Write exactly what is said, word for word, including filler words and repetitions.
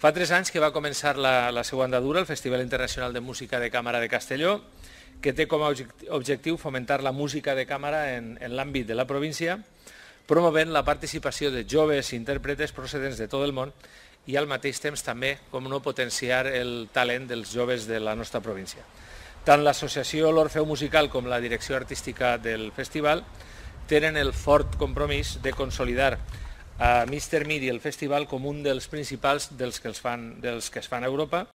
Fa tres anys que va començar la, la seva andadura el Festival Internacional de Música de Càmera de Castelló, que té com a objectiu fomentar la música de càmera en, en l'àmbit de la província, promovent la participació de joves intèrpretes procedents de tot el món i al mateix temps també com no potenciar el talent dels joves de la nostra província. Tant l'associació L'Orfeu Musical com la direcció artística del festival tenen el fort compromís de consolidar a mig termini el festival com un dels principals dels que, els fan, dels que es fan a Europa.